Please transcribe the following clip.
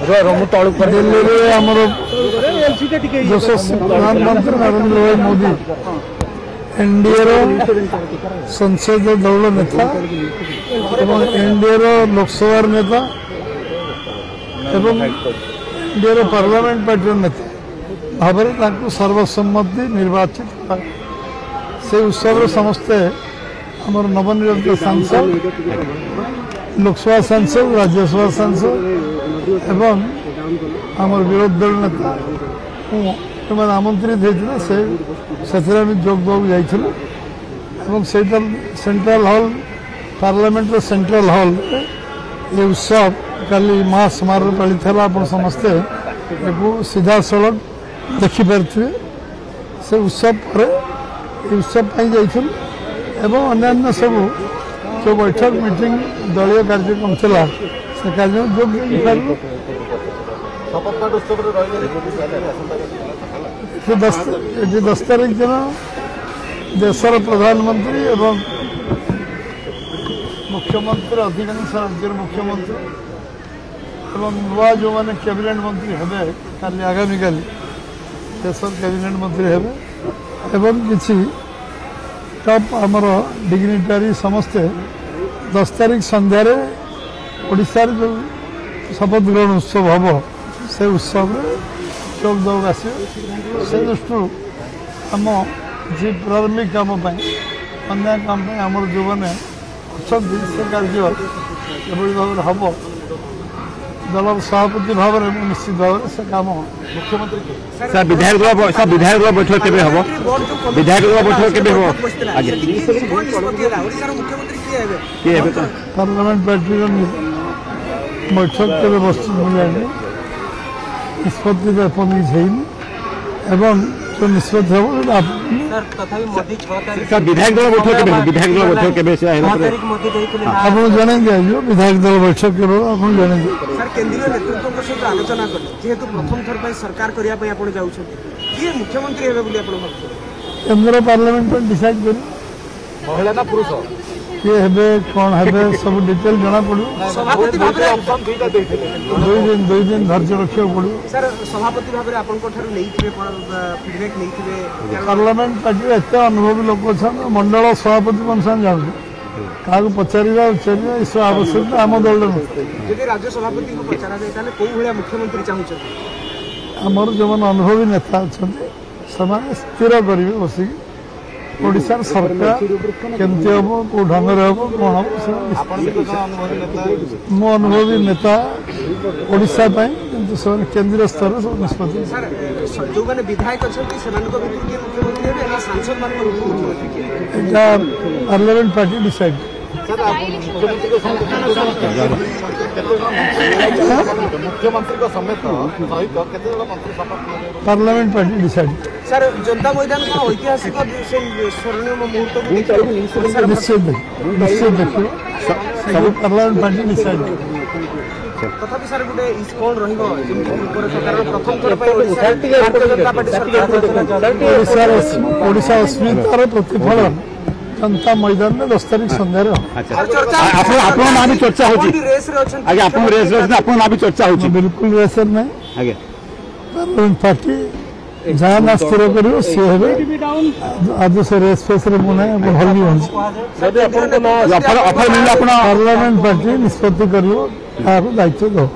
ଦିଲ୍ଲୀରେ ଆମର ଯଶସ୍ୱୀ ପ୍ରଧାନମନ୍ତ୍ରୀ ନରେନ୍ଦ୍ର ଭାଇ ମୋଦି, ଏନ୍ଡିଏର ସଂସଦୀୟ ଦଳର ନେତା ଏବଂ ଏନ୍ଡିଏର ଲୋକସଭାର ନେତା ଏବଂ ଏନ୍ଡିଏର ପାର୍ଲାମେଣ୍ଟ ପାର୍ଟିର ନେତା ଭାବରେ ତାଙ୍କୁ ସର୍ବସମ୍ମତି ନିର୍ବାଚିତ କରା। ସେ ଉତ୍ସବରେ ସମସ୍ତେ ଆମର ନବନିର୍ବାଚିତ ସାଂସଦ, ଲୋକସଭା ସାଂସଦ, ରାଜ୍ୟସଭା ସାଂସଦ ଏବଂ ଆମର ବିରୋଧୀ ଦଳ ନେତା ସେମାନେ ଆମନ୍ତ୍ରିତ ହେଇଥିଲେ। ସେ ସେଥିରେ ଆମେ ଯୋଗ ଦେବାକୁ ଯାଇଥିଲୁ ଏବଂ ସେଇଟା ସେଣ୍ଟ୍ରାଲ ହଲ୍, ପାର୍ଲାମେଣ୍ଟର ସେଣ୍ଟ୍ରାଲ ହଲ୍ରେ ଏ ଉତ୍ସବ କାଲି ମହାସମାରୋହ ପାଳିତ ହେଲା। ଆପଣ ସମସ୍ତେ ଏକୁ ସିଧାସଳଖ ଦେଖିପାରିଥିବେ। ସେ ଉତ୍ସବ ପରେ ଏ ଉତ୍ସବ ପାଇଁ ଯାଇଥିଲୁ ଏବଂ ଅନ୍ୟାନ୍ୟ ସବୁ ଯେଉଁ ବୈଠକ, ମିଟିଂ, ଦଳୀୟ କାର୍ଯ୍ୟକ୍ରମ ଥିଲା, ସେ କାର୍ଯ୍ୟକ୍ରମ ଯୋଗ ଦେଇପାରିଲୁ। ଏଠି 10 ତାରିଖ ଦିନ ଦେଶର ପ୍ରଧାନମନ୍ତ୍ରୀ ଏବଂ ମୁଖ୍ୟମନ୍ତ୍ରୀ, ଅଧିକାଂଶ ରାଜ୍ୟର ମୁଖ୍ୟମନ୍ତ୍ରୀ ଏବଂ ନୂଆ ଯେଉଁମାନେ କ୍ୟାବିନେଟ୍ ମନ୍ତ୍ରୀ ହେବେ, କାଲି ଆଗାମୀକାଲି ଦେଶର କ୍ୟାବିନେଟ୍ ମନ୍ତ୍ରୀ ହେବେ ଏବଂ କିଛି ଟପ୍ ଆମର ଡିଗ୍ନିଟାରୀ ସମସ୍ତେ 10 ତାରିଖ ସନ୍ଧ୍ୟାରେ ଓଡ଼ିଶାରେ ଯେଉଁ ଶପଥ ଗ୍ରହଣ ଉତ୍ସବ ହେବ, ସେ ଉତ୍ସବରେ ଯୋଗ ଦେବାକୁ ଆସିବେ। ସେ ଦୃଷ୍ଟିରୁ ଆମ କିଛି ପ୍ରାରମ୍ଭିକ କାମ ପାଇଁ, ଅନ୍ୟ କାମ ପାଇଁ ଆମର ଯେଉଁମାନେ ଅଛନ୍ତି, ସେ କାର୍ଯ୍ୟ ଏଭଳି ଭାବରେ ହେବ। ଦଳର ସଭାପତି ଭାବରେ ମୁଁ ନିଶ୍ଚିତ ଭାବରେ ସେ କାମ। ସାର୍, ବିଧାୟକ ଦଳ, ସାର୍, ବିଧାୟକ ଦଳ ବୈଠକ କେବେ ହେବ? ବିଧାୟକ ଦଳ ବୈଠକ କେବେ ହେବ ଆଜ୍ଞା? କିଏ ହେବେ? ପାର୍ଲାମେଣ୍ଟ ପାର୍ଟିର ବୈଠକ କେବେ ବସିଛି ମୁଁ ଜାଣିନି। ନିଷ୍ପତ୍ତି ତ ଏପର୍ଯ୍ୟନ୍ତ କିଛି ହେଇନି ଏବଂ ଯେଉଁ ନିଷ୍ପତ୍ତି ହେବ ସେଟା। ସାର୍, ବିଧାୟକ ଦଳ ବୈଠକ କେବେ ହେବ? ବିଧାୟକ ଦଳ ବୈଠକ କେବେ ସେ ହେଲା ପରେ ଆପଣଙ୍କୁ ଜଣାଇ ଦିଆଯିବ। ବିଧାୟକ ଦଳ ବୈଠକ କେବେ ହେବ ଆପଣଙ୍କୁ ଜଣାଇ ଦିଆଯିବ। ସାର୍, କେନ୍ଦ୍ରୀୟ ନେତୃତ୍ୱଙ୍କ ସହିତ ଆଲୋଚନା କଲେ, ଯେହେତୁ ପ୍ରଥମ ଥର ପାଇଁ ସରକାର କରିବା ପାଇଁ ଆପଣ ଯାଉଛନ୍ତି, କିଏ ମୁଖ୍ୟମନ୍ତ୍ରୀ ହେବେ ବୋଲି ଆପଣ ଭାବୁଛନ୍ତି? କେନ୍ଦ୍ର ପାର୍ଲାମେଣ୍ଟ ପାଇଁ ଡିସାଇଡ୍ କରିବ। ମହିଳା ନା ପୁରୁଷ କିଏ ହେବେ, କ'ଣ ହେବେ, ସବୁ ଡିଟେଲ ଜଣାପଡ଼ିବ। ସଭାପତି ଭାବରେ ଦୁଇଟା ଦେଇଥିଲେ। 2 ଦିନ, 2 ଦିନ ଧୈର୍ଯ୍ୟ ରଖିବାକୁ ପଡ଼ିବ। ସାର୍, ସଭାପତି ଭାବରେ ଆପଣଙ୍କ ଠାରୁ ନେଇଥିବେ, ଫିଡବ୍ୟାକ୍ ନେଇଥିବେ କାରଣ ପାର୍ଲାମେଣ୍ଟ ପାର୍ଟିରେ ଏତେ ଅନୁଭବୀ ଲୋକ ଅଛନ୍ତି, ମଣ୍ଡଳ ସଭାପତି ମାନେ ସେମାନେ ଜାଣୁଛନ୍ତି। କାହାକୁ ପଚାରିବା ଉଚାରିବା ଏସବୁ ଆବଶ୍ୟକତା ଆମ ଦଳରେ ନଥାଏ। ଯଦି ରାଜ୍ୟ ସଭାପତିଙ୍କୁ ପଚରାଯାଏ, ତାହେଲେ କୋଉ ଭଳିଆ ମୁଖ୍ୟମନ୍ତ୍ରୀ ଚାହୁଁଛନ୍ତି? ଆମର ଯେଉଁମାନେ ଅନୁଭବୀ ନେତା ଅଛନ୍ତି, ସେମାନେ ସ୍ଥିର କରିବେ ବସିକି, ଓଡ଼ିଶାର ସରକାର କେମିତି ହେବ, କେଉଁ ଢଙ୍ଗରେ ହେବ, କ'ଣ ହେବ ସେମାନେ। ଆପଣ ବି ତ ଜଣେ ଅନୁଭବୀ ନେତା। ମୁଁ ଅନୁଭବୀ ନେତା ଓଡ଼ିଶା ପାଇଁ, କିନ୍ତୁ ସେମାନେ କେନ୍ଦ୍ରୀୟ ସ୍ତରରେ ସବୁ ନିଷ୍ପତ୍ତି। ସାର୍, ଯୋଉମାନେ ବିଧାୟକ ଅଛନ୍ତି ସେମାନଙ୍କ ଭିତରୁ କିଏ ମୁଖ୍ୟମନ୍ତ୍ରୀ ହେବେ ନା ସାଂସଦମାନଙ୍କ ଭିତରୁ ମୁଖ୍ୟମନ୍ତ୍ରୀ କିଏ ହେବେ? ଏଇଟା ପାର୍ଲାମେଣ୍ଟ ପାର୍ଟି ଡିସାଇଡ୍। ସାର୍, ମୁଖ୍ୟମନ୍ତ୍ରୀଙ୍କ ସମେତ, ମୁଖ୍ୟମନ୍ତ୍ରୀଙ୍କ ସମେତ ସହିତ କେତେ ଜଣ ମନ୍ତ୍ରୀ ଶପଥ ନେବେ? Parliament party decide. ସାର୍, ଜନତା ମଇଦାନ କଣ ଐତିହାସିକ ସେ ସ୍ମରଣୀୟ ମୁହୂର୍ତ୍ତକୁ ଦେଖିବ ଓଡ଼ିଶାର? ନିଶ୍ଚିତ ନିଶ୍ଚିତ ଦେଖିବ, ସବୁ ପାର୍ଲାମେଣ୍ଟ ପାର୍ଟି ଡିସାଇଡ୍। ତଥାପି ସାର୍, ଗୋଟେ କଣ ରହିବ ଯେମିତି ରୂପରେଖ, କାରଣ ପ୍ରଥମ ଥର ପାଇଁ ଓଡ଼ିଶାରେ ଭାରତୀୟ ଜନତା ପାର୍ଟି ସରକାର। ଓଡ଼ିଶାର ଓଡ଼ିଶା ଅସ୍ମିତାର ପ୍ରତିଫଳନ ଜନତା ମଇଦାନରେ 10 ତାରିଖ ସନ୍ଧ୍ୟାରେ ହେବ। ଆଚ୍ଛା। ଚର୍ଚ୍ଚା ଆପଣ ନାଁ ବି ଚର୍ଚ୍ଚା ହଉଛି। ରେସ୍ରେ ଅଛନ୍ତି। ଆଜ୍ଞା, ଆପଣ ରେସ୍ରେ ଅଛନ୍ତି, ଆପଣଙ୍କ ନାଁ ବି ଚର୍ଚ୍ଚା ହଉଛି। ବିଲକୁଲ ରେସରେ ନାହିଁ। ଆଜ୍ଞା। ପାର୍ଲାମେଣ୍ଟ ପାର୍ଟି ଯାହା ନା ସ୍ଥିର କରିବ, ସିଏ ହେବେ। ଆଜି ସେ ରେସ୍ ଫେସ୍ରେ ମୁଁ ନାହିଁ, ଆପଣ ଭଲ ବି ହୁଅନ୍ତି। ଅଫର ମିଳିଲେ ଆପଣ? ପାର୍ଲାମେଣ୍ଟ ପାର୍ଟି ନିଷ୍ପତ୍ତି କରିବ, କାହାକୁ ଦାୟିତ୍ୱ ଦେବ।